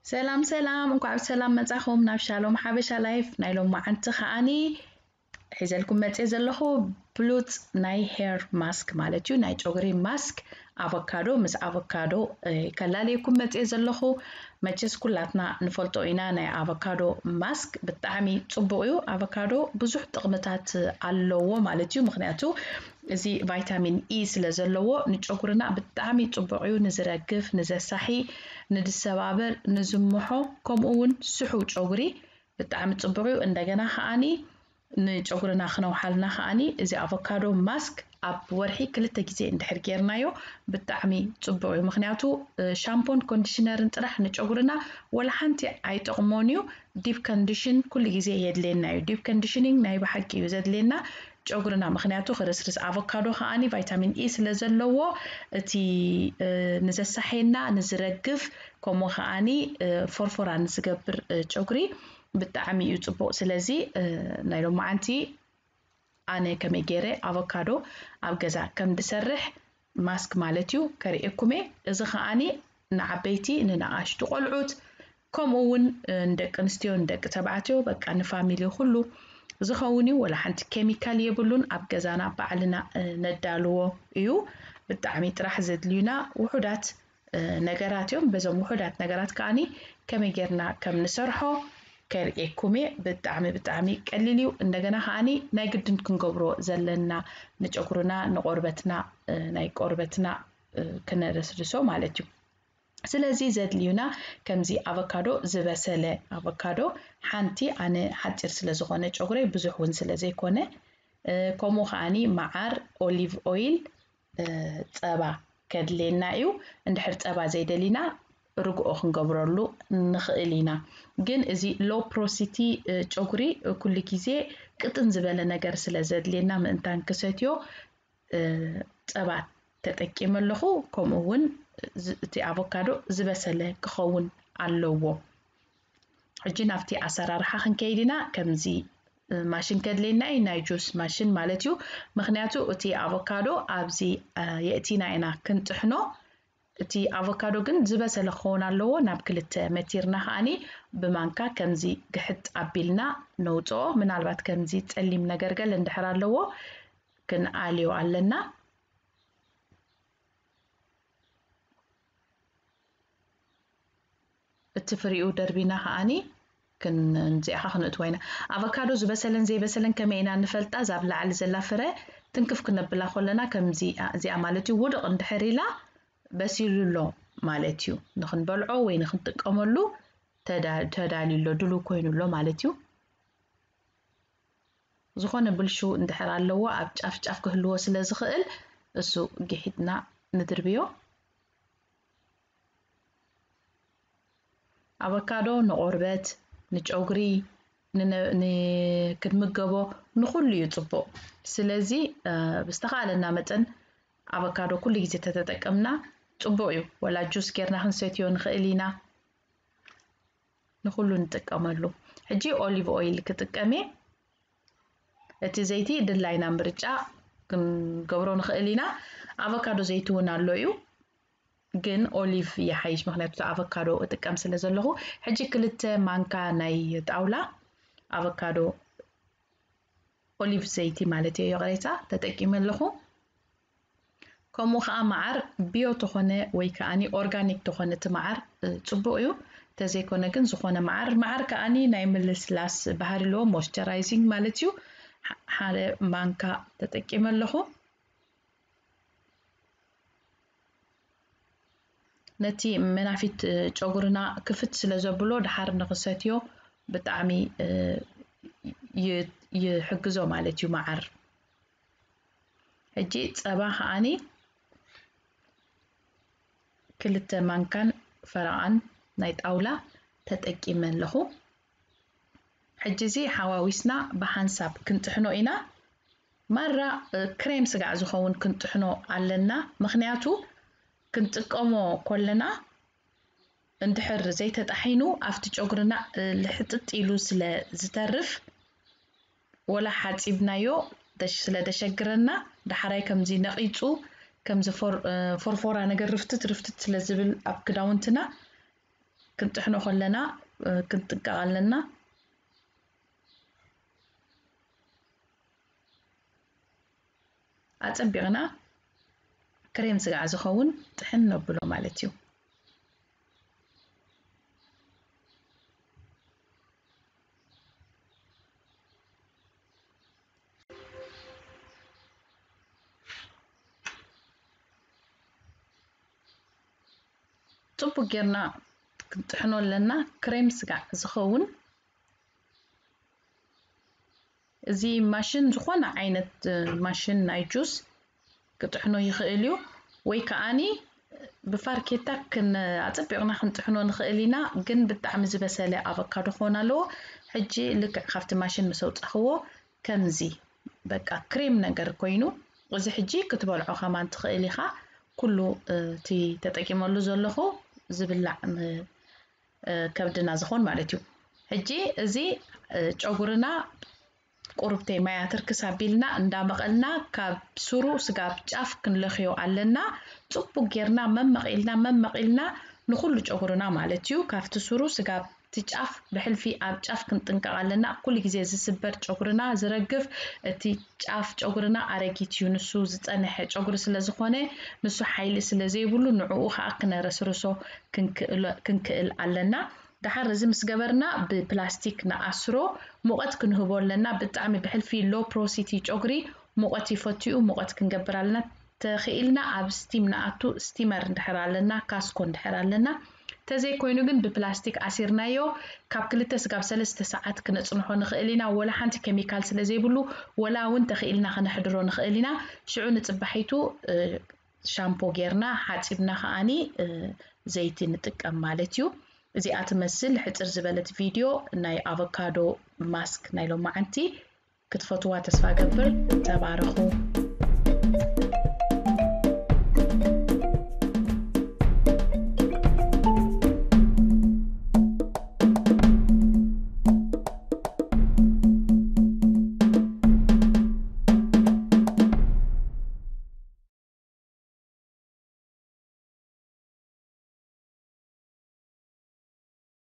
ሰላም ሰላም፣ እንኳዕ ብሰላም መጻኹም ናብ ሻሎም ሓበሻ ላይፍ። ናይ ሎማዓንቲ ከዓኒ ሒዘልኩም መጽየ ዘለኹ ብሉጽ ናይ ሄር ማስክ ማለት እዩ፣ ናይ ጨጉሪ ማስክ። ኣቮካዶ ምስ ኣቮካዶ ከላለየኩም መጽየ ዘለኹ። መቸስ ኩላትና ንፈልጦ ኢና፣ ናይ ኣቮካዶ ማስክ ብጣዕሚ ጽቡቕ እዩ። ኣቮካዶ ብዙሕ ጥቕምታት ኣለዎ ማለት እዩ። ምኽንያቱ እዚ ቫይታሚን ኢ ስለ ዘለዎ ንጨጉርና ብጣዕሚ ጽቡቕ እዩ። ንዝረግፍ፣ ንዘሳሒ፣ ንዝሰባበር፣ ንዝምሖ፣ ከምኡ እውን ስሑው ጨጉሪ ብጣዕሚ ጽቡቕ እዩ። እንደገና ከዓኒ ንጨጉርና ክነውሓልና ከዓኒ እዚ ኣቮካዶ ማስክ ኣብ ወርሒ ክልተ ግዜ እንድሕር ጌርናዮ ብጣዕሚ ጽቡቕ እዩ። ምኽንያቱ ሻምፖን ኮንዲሽነርን ጥራሕ ንጨጉርና ወላ ሓንቲ ኣይጠቕሞን እዩ። ዲፕ ኮንዲሽን ኩሉ ግዜ የድልየና እዩ። ዲፕ ኮንዲሽኒንግ ናይ ብሓቂ እዩ ዘድልየና ጨጉርና፣ ምኽንያቱ ክርስርስ ኣቮካዶ ከዓኒ ቫይታሚን ኢ ስለ ዘለዎ እቲ ንዘሳሕየና፣ ንዝረግፍ፣ ከምኡ ከዓኒ ፎርፎራ ንዝገብር ጨጉሪ ብጣዕሚ እዩ ጽቡቕ። ስለዚ ናይ ሎማዓንቲ ኣነ ከመይ ገይረ ኣቮካዶ ኣብ ገዛ ከም ድሰርሕ ማስክ ማለት እዩ ከርእየኩም እየ። እዚ ከዓኒ ንዓበይቲ፣ ንንኣሽቱ ቆልዑት፣ ከምኡ እውን ንደቂ ኣንስትዮ፣ ንደቂ ተባዕትዮ፣ በቃ ንፋሚሊ ኩሉ ዝኸውን እዩ። ወላ ሓንቲ ኬሚካል የብሉን። ኣብ ገዛና ባዕልና ነዳልዎ እዩ። ብጣዕሚ ጥራሕ ዘድልዩና ውሑዳት ነገራት እዮም። በዞም ውሑዳት ነገራት ከዓኒ ከመይ ጌርና ከም ንሰርሖ ከርእየኩም እየ። ብጣዕሚ ብጣዕሚ ቀሊል እዩ። እንደገና ከዓኒ ናይ ግድን ክንገብሮ ዘለና ንጨጉርና፣ ንቆርበትና፣ ናይ ቆርበትና ክነለስልሶ ማለት እዩ። ስለዚ ዘድልዩና ከምዚ ኣቮካዶ፣ ዝበሰለ ኣቮካዶ ሓንቲ፣ ኣነ ሓጺር ስለ ዝኾነ ጨጉረይ ብዙሕ እውን ስለ ዘይኮነ፣ ከምኡ ከዓኒ መዓር፣ ኦሊቭ ኦይል፣ ጸባ ከድልየና እዩ። እንድሕር ጸባ ዘይደሊና ርግኦ ክንገብረሉ ንኽእል ኢና። ግን እዚ ሎ ፕሮሲቲ ጨጉሪ ኩሉ ግዜ ቅጥን ዝበለ ነገር ስለ ዘድልየና ምእንታን ክሰትዮ ጸባ ተጠቂመ ኣለኹ። ከምኡ እውን እቲ ኣቮካዶ ዝበሰለ ክኸውን ኣለዎ። ሕጂ ናብቲ ኣሰራርሓ ክንከይድ ኢና። ከምዚ ማሽን ከድልየና እዩ፣ ናይ ጁስ ማሽን ማለት እዩ። ምኽንያቱ እቲ ኣቮካዶ ኣብዚ የእቲና ኢና ክንጥሕኖ። እቲ ኣቮካዶ ግን ዝበሰለ ክኸውን ኣለዎ። ናብ ክልተ መቲርና ከዓኒ ብማንካ ከምዚ ግሕጥ ኣቢልና ነውፅኦ። ምናልባት ከምዚ ፀሊም ነገር ገለ እንድሕር ኣለዎ ክንኣልዮ ኣለና። እቲ ፍሪኡ ደርቢና ከዓኒ ክንዚኣኻ ክነእትዎ ኢና። ኣቮካዶ ዝበሰለን ዘይበሰለን ከመይ ኢና ንፈልጣ? እዛ ኣብ ላዕሊ ዘላ ፍረ ትንክፍ ክነብላ ከለና ከምዚ እዚኣ ማለት እዩ ውድቕ እንድሕር ኢላ በሲሉ ኣሎ ማለት እዩ። ንኽንበልዖ ወይ ንኽንጥቀመሉ ተዳልዩ ኣሎ፣ ድሉው ኮይኑ ኣሎ ማለት እዩ። ዝኾነ ብልሹ እንድሕር ኣለዎ ኣብ ጫፍ ጫፍ ክህልዎ ስለ ዝኽእል እሱ ግሒጥና ንድርብዮ። ኣቮካዶ ንቆርበት፣ ንጨጉሪ፣ ንክንምገቦ ንኹሉ እዩ ጽቡቕ። ስለዚ ብዝተኻእለና መጠን ኣቮካዶ ኩሉ ግዜ ተተጠቀምና ጽቡቕ እዩ። ወላ ጁስ ጌርና ክንሰትዮ ንኽእል ኢና። ንኹሉ ንጥቀመሉ። ሕጂ ኦሊቭ ኦይል ክጥቀም እየ። እቲ ዘይቲ ድላይና ምርጫ ክንገብሮ ንኽእል ኢና። ኣቮካዶ ዘይቲ እውን ኣሎ እዩ፣ ግን ኦሊቭ ይሓይሽ፣ ምኽንያቱ ኣቮካዶ እጥቀም ስለ ዘለኹ። ሕጂ ክልተ ማንካ ናይ ጣውላ ኣቮካዶ ኦሊቭ ዘይቲ ማለት እየ፣ ይቕሬታ፣ ተጠቂመ ኣለኹ። ከምኡ ከዓ መዓር ቢዮ ተኾነ ወይ ከዓኒ ኦርጋኒክ ተኾነ እቲ መዓር ጽቡቕ እዩ። ተዘይኮነ ግን ዝኾነ መዓር፣ መዓር ከዓኒ ናይ ምልስላስ ባህሪ ኣለዎ፣ ሞይስቸራይዚንግ ማለት እዩ። ሓደ ማንካ ተጠቂመ ኣለኹ። ነቲ መናፊት ጨጉርና ክፍት ስለ ዘብሎ ድሓር ንኽሰትዮ ብጣዕሚ ይሕግዞ ማለት እዩ መዓር። ሕጂ ጸባ ከዓኒ ክልተ ማንካን ፈረቓን ናይ ጣውላ ተጠቂመ ኣለኹ። ሕጂ እዚ ሓዋዊስና ብሓንሳብ ክንጥሕኖ ኢና። ማራ ክሬም ስጋዕ ዝኸውን ክንጥሕኖ ኣለና፣ ምኽንያቱ ክንጥቀሞ ከለና እንድሕር ዘይተጣሒኑ ኣብቲ ጨጉርና ልሕጥጥ ኢሉ ስለ ዝተርፍ፣ ወላ ሓጺብናዮ ስለ ደሸግረና፣ ዳሕራይ ከምዚ ነቒጹ፣ ከምዚ ፎርፎራ ነገር ርፍትት ርፍትት ስለ ዝብል ኣብ ክዳውንትና፣ ክንጥሕኖ ከለና ክንጥንቀቕ ኣለና። ኣጸቢቕና ክሬም ስጋዕ ዝኸውን ጥሕን ነብሎ ማለት እዩ። ጽቡቅ ጌርና ክንጥሕኖ ኣለና። ክሬም ስጋዕ ዝኸውን፣ እዚ ማሽን፣ ዝኾነ ዓይነት ማሽን ናይ ጁስ ክጥሕኖ ይኽእል እዩ፣ ወይ ከዓኒ ብፋርኬታ ክን-፣ ኣጸቢቕና ክንጥሕኖ ንኽእል ኢና። ግን ብጣዕሚ ዝበሰለ ኣቮካዶ ክኾን ኣለዎ። ሕጂ ልክዕ ካብቲ ማሽን ምስ ኣውጻኽዎ ከምዚ በቃ ክሬም ነገር ኮይኑ፣ እዚ ሕጂ ክትበልዖ ከማን ትኽእል ኢኻ። ኩሉ እቲ ተጠቂመሉ ዘለኹ ዝብላዕ ከብድና ዝኾን ማለት እዩ። ሕጂ እዚ ጨጉርና ቁርብተይ ማያ ትርክስ ኣቢልና እንዳመቐልና ካብ ሱሩ ስጋብ ጫፍ ክንለኽዮ ኣለና። ጽቡቅ ጌርና መመቒልና መመቒልና ንኹሉ ጨጉርና ማለት እዩ። ካብቲ ሱሩ ስጋብ እቲ ጫፍ ብሕልፊ ኣብ ጫፍ ክንጥንቀቕ ኣለና። ኩሉ ግዜ ዝስበር ጨጉርና ዝረግፍ እቲ ጫፍ ጨጉርና ኣረጊት እዩ። ንሱ ዝጸንሐ ጨጉሪ ስለ ዝኾነ፣ ንሱ ሓይሊ ስለ ዘይብሉ፣ ንዕኡ ኸኣ ክነረስርሶ ክንክእል ኣለና። ደሓር እዚ ምስ ገበርና ብፕላስቲክ ንኣስሮ፣ ሙቐት ክንህቦ ኣለና። ብጣዕሚ ብሕልፊ ሎ ፖሮሲቲ ጨጉሪ ሙቐት ይፈቱ እዩ፣ ሙቐት ክንገብር ኣለና። ተኽኢልና ኣብ ስቲም ንኣቱ፣ ስቲመር እንድሕር ኣለና፣ ካስኮ እንድሕር ኣለና። ተዘይኮይኑ ግን ብፕላስቲክ ኣሲርናዮ ካብ ክልተ ስጋብ ሰለስተ ሰዓት ክነጽንሖ ንኽእል ኢና። ወላ ሓንቲ ኬሚካል ስለ ዘይብሉ፣ ወላ እውን ተኽኢልና ከነሕድሮ ንኽእል ኢና። ሽዑ ንጽባሒቱ ሻምፖ ጌርና ሓጺብና ከኣኒ ዘይቲ ንጥቀም ማለት እዩ። እዚኣ ትመስል ሕጽር ዝበለት ቪድዮ ናይ ኣቮካዶ ማስክ ናይ ሎማዓንቲ። ክትፈትዋ ተስፋ ገብር። ተባረኹ።